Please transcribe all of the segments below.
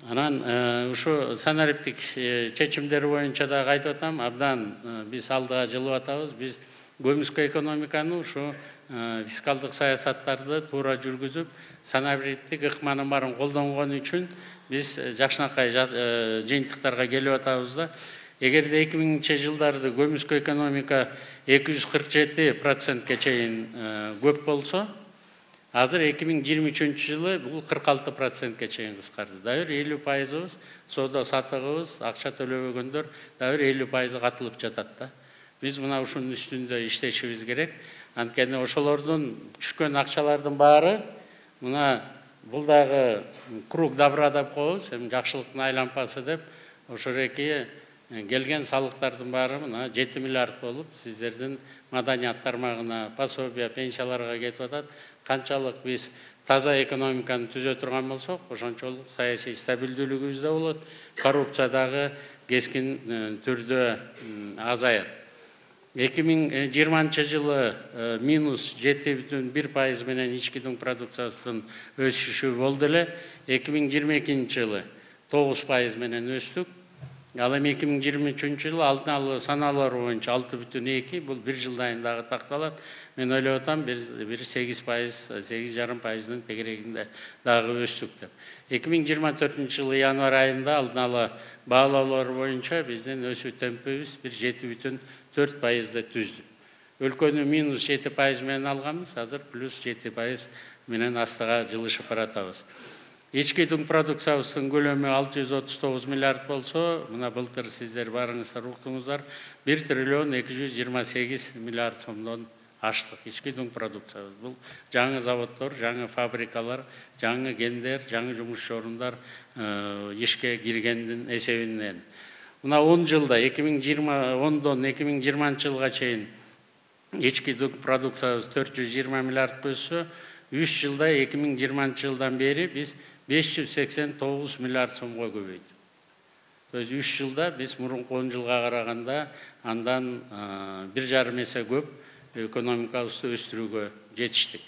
Анан ушу санариптик чечимдер боюнча да айтып атам, абдан биз алдыга жылып атабыз. Биз көмүскө экономиканы ушу фискалдык саясаттарды туура жүргүзүп, санариптик ыкманын баарын колдонгон үчүн биз жакшынакай жыйынтыктарга келип атабыз да. Эгерде 2000-жылдарды көмүскө экономика 247%ке чейин көп болсо, азыр 2023-жылы бул 46%ке чейин кыскарды. Дагы 50%, соода сатыгыбыз, акча төлөбөгөндөр дагы 50% катылып жатат да. Биз мына ушунун үстүндө иштешибиз керек. Анткени ошолордун түшкөн акчалардын баары мына бул дагы круг добра деп коебуз, эми жакшылыктын айлампасы деп, ошореки келген салыктардын баары мына 7 миллиард болуп, сиздердин маданият тармагына, пособия, пенсияларга кетип атат. Канчалык биз таза экономиканы түзө турган болсок, ошончолук саясий стабилдүүлүгүбүз да болот, коррупция дагы кескин түрдө азаят. 2020-жылы минус 7,1% менен ички дуң продукциясынын өсүшү болду эле. 2022-жылы 9% менен өстүк. Ал эми 2023-жылы алдын ала санаалар боюнча 6,2, бул бир жылдан дагы такталат. Мен ойлоп атам, бир 8%, 8,5%дын тегерегинде дагы өстүк деп. 2024-жылы январь айында алдын ала баалоолор боюнча биздин өсүү темпибиз бир 7,4%ды түздү. Өлкөнү минус 7% менен алганбыз, азыр плюс 7% менен астыга жылышып баратабыз. Ички дуң продукциябыздын көлөмү 639 миллиард болсо, мына былтыр сиздер баарыңыздар уктуңуздар, 1 триллион 228 миллиард сомдон аштык ички дуң продукциябыз. Бул жаңы заводдор, жаңы фабрикалар, жаңы гендер, жаңы жумуш орундар ишке киргендин эсебинен. Мына 10 жылда 2010дон 2020-жылга чейин ички дуң продукциябыз 420 миллиардга өссө, 3 жылда 2020-жылдан бери биз 589 миллиард сомго көбөйдү. То есть 3 жылда биз мурунку 10 жылга караганда андан 1,5 эсе көп экономикабызды өстүрүүгө жетиштик.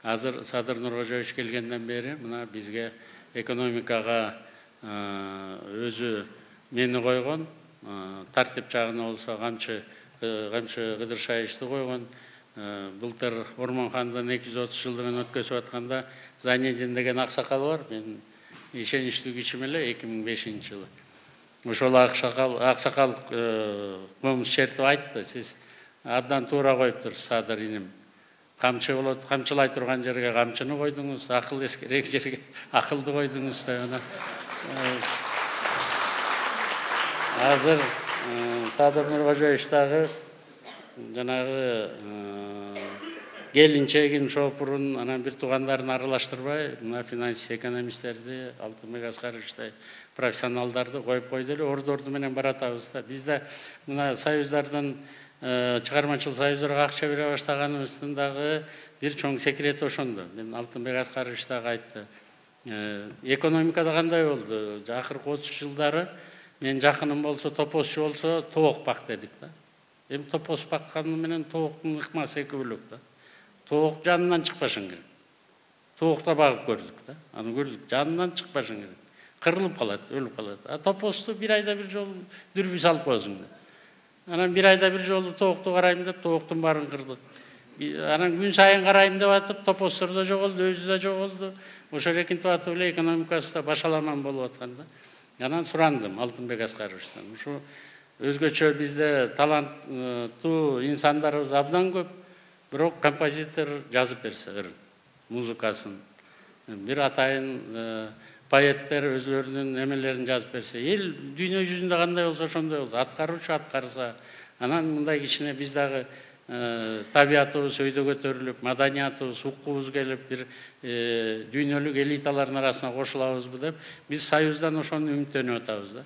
Азыр Садыр Нуркожоевич келгенден бери мына бизге экономикага өзү мени койгон, тартип жагына болсо камчы Кыдыршаевичти койгон. Былтыр Ормонхандын 230 жылдыгын өткөзүп атканда Зайнедин деген аксакал бар. Мен ишеничтүү кишим эле 2005-жылы. Ошол аксакал комуз чертип айтты, сиз абдан туура коюптур Садыр иним. Камчы болот, камчылай турган жерге камчыны койдуңуз, акыл эскерек жерге акылды койдуңуз деп. Азыр Садыр Нуркожоевич дагы жанагы келинчегин, шопурун, анан бир туугандарын аралаштырбай, мына финансист экономисттерди, Алтынбек Аскаровичтай профессионалдарды коюп койду эле, ордорду менен баратабыз да. Биз да мына союздардын чыгармачыл союздарга акча бере баштаганыбыздын дагы бир чоң секрети ошондо. Мен Алтынбек Аскарович дагы айтты. Экономикада кандай болду? Акыркы 30 жылдары мен жакыным болсо, топозчу болсо, тоок бак дедик да. Эми топоз бакканы менен тооктун ыкмасы эки бөлөк да. Тоок жанынан чыкпашың керек. Тоокта багып көрдүк да. Аны көрдүк, жанынан чыкпашың керек. Кырылып калат, өлүп калат. А топозду бир айда бир жолу дүрбү салып коесуң да. Анан бир айда бир жолу тоокту карайм деп, тооктун баарын кырдык. Анан күн сайын карайм деп атып, топоздор да жоголду, өзү да жоголду. Ошо эркинтип атып эле экономикасы да башаламан болуп аткан да. Анан сурандым Алтынбек Аскаровичтан. Ушу өзгөчө бизде таланттуу инсандарыбыз абдан көп, бирок композитор жазып берсе ырын, музыкасын, бир атайын поэттер өзлөрүнүн эмелерин жазып берсе, эл дүйнө жүзүндө кандай болсо ошондой болсо, аткаруучу аткарса, анан мындай кичине биз дагы табиятыбыз өйдө көтөрүлүп, маданиятыбыз, укугубуз келип, бир дүйнөлүк элиталардын арасына кошулабызбы деп, биз союздан ошону үмүттөнүп атабыз да.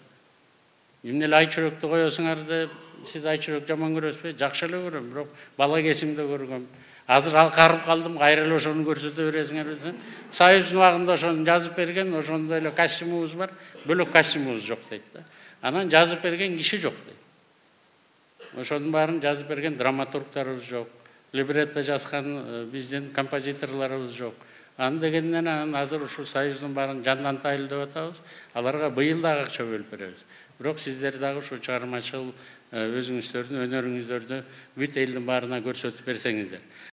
Эмне эле айчүрөктү коесуңар деп, сиз айчүрөк жаман көрөсүзбү? Жакшы эле көрөм, бирок бала кезимде көргөм. Азыр алкарып калдым, кайра эле ошону көрсөтө бересиңер десем, союздун убагында ошону жазып берген, ошондой эле костюмубуз бар, бөлөк костюмубуз жок дейт да. Анан жазып берген киши жок дейт. Ошонун баарын жазып берген драматургдарыбыз жок, либретто жазган биздин композиторлорубуз жок. Аны дегенден анан азыр ушул союздун баарын жандантайлы деп атабыз. Аларга быйыл дагы акча бөлүп беребиз. Бирок сиздер дагы ушу чыгармачыл өзүңүздөрдүн өнөрүңүздөрдү бүт элдин баарына көрсөтүп берсеңиздер.